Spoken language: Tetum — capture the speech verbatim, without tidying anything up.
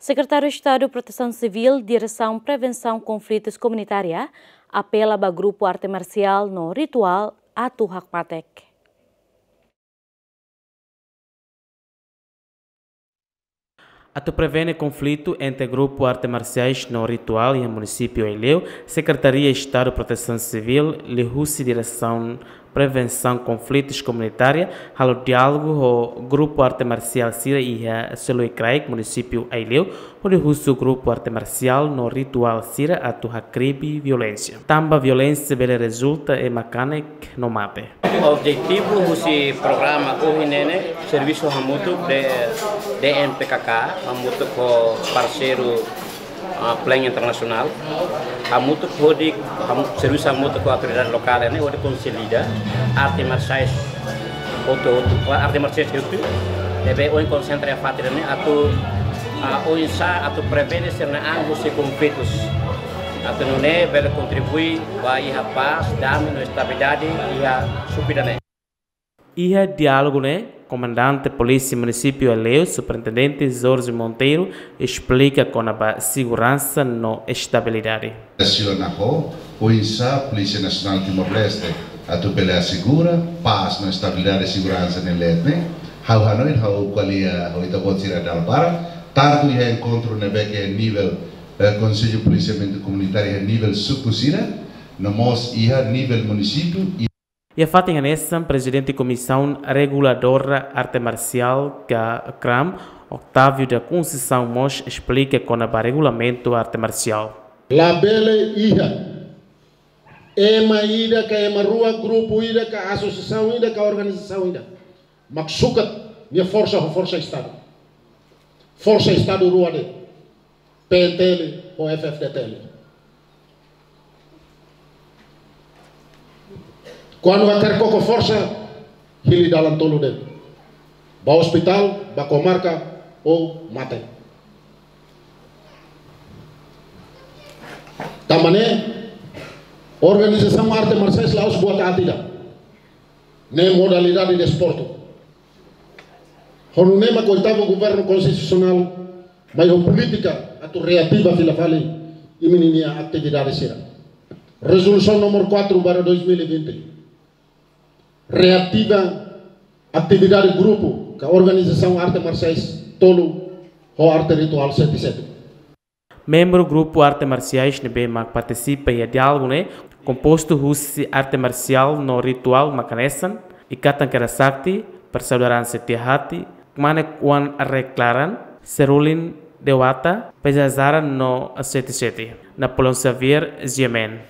Sekretáriu Estadu Protesaun Sivíl, Diresaun Prevensaun Konflitus Komunitária, apela ba grupu arte marsiál no rituál atu hakmatek. Atu prevene konflitu entre grupu arte marsiais no rituál iha munisípiu Aileu, Sekretaria Estadu Protesaun Sivíl, liuhusi Diresaun Prevensaun Konflitus Komunitária, halo diálogu ho grupu arte marsiál sira iha seluk kraik munisípiu Aileu, hodi husu grupu arte marsiál no rituál sira atu hakribi violénsia. Tanba violénsia bele rezulta ema kanek no mate. Objetivu husi programa ohin ne'e ne'e servisu hamutuk de D M P K K, hamutuk ho parseiru, ah, Plan Internasionál, hamutuk hodi, ham-, servisu hamutuk ho autoridade lokál ne'e hodi konsolida arte marsiais hotu-hotu, arte marsiais hotu, ne'ebé ohin konsentra iha fatin ne'e atu, ah, oinsá atu prevene sira-nia an husi konflitus. Atu nune'e bele kontribui ba iha pás, dame no estabilidade iha suku ida-ne'e. Iha diálogu ne'e, Komandante Polísia Munisípiu Aileu, Superintendente Jorge Monteiro, esplika kona-ba seguransa no estabilidade. Asaun ho, oinsá Polísia Nasionál Timor-Leste atu bele asegura pás no estabilidade, seguransa ne'e leet ne'e. Ha'u hanoin, ha'u ko'alia ho ita-boot sira dala barak, tantu iha enkontru ne'ebé ke nivel, eh, Konsellu Polisiamentu Komunitáriu iha nivel suku sira, no mós iha nivel munisípiu. Iha fatin hanesan, Prezidente Komisaun Reguladora Arte Marsiál ka KRAM, Otávio da Conceição mós esplika kona-ba regulamentu arte marsiál. Labele iha ema ida ka ema rua, grupu ida ka asosiasaun ida ka organizasaun ida mak sukat nia forsa ho forsa Estadu. Forsa Estadu rua de'it, P N T L ho F F D T L. Kuandu hakarak koko forsa, hili dalan tolu de'it. Ba ospitál, ba komarka, ou mate. Tanba ne'e, organizasaun arte marsiais la'ós buat aat ida. Ne'e modalidade desportu. Ho nune'e mak oitavu governu konstitusionál mai ho polítika atu reativa fila fali imi-nia atividade sira. Rezolusaun númeru quatro barra dois mil e vinte reativa atividade grupu ka organizasaun arte marsiais tolu ho arte rituál sete sete. Membru grupu arte marsiais ne'ebé mak partisipa iha diálogu ne'e kompostu husi arte marsiál no rituál mak hanesan: Ikatan Kera Sakti, Persaudaraan Setia Hati, Kmanek Wan Reklaran, Serulin Dewata, Pezazaran no sete sete. Napoleão Xavier, G M N.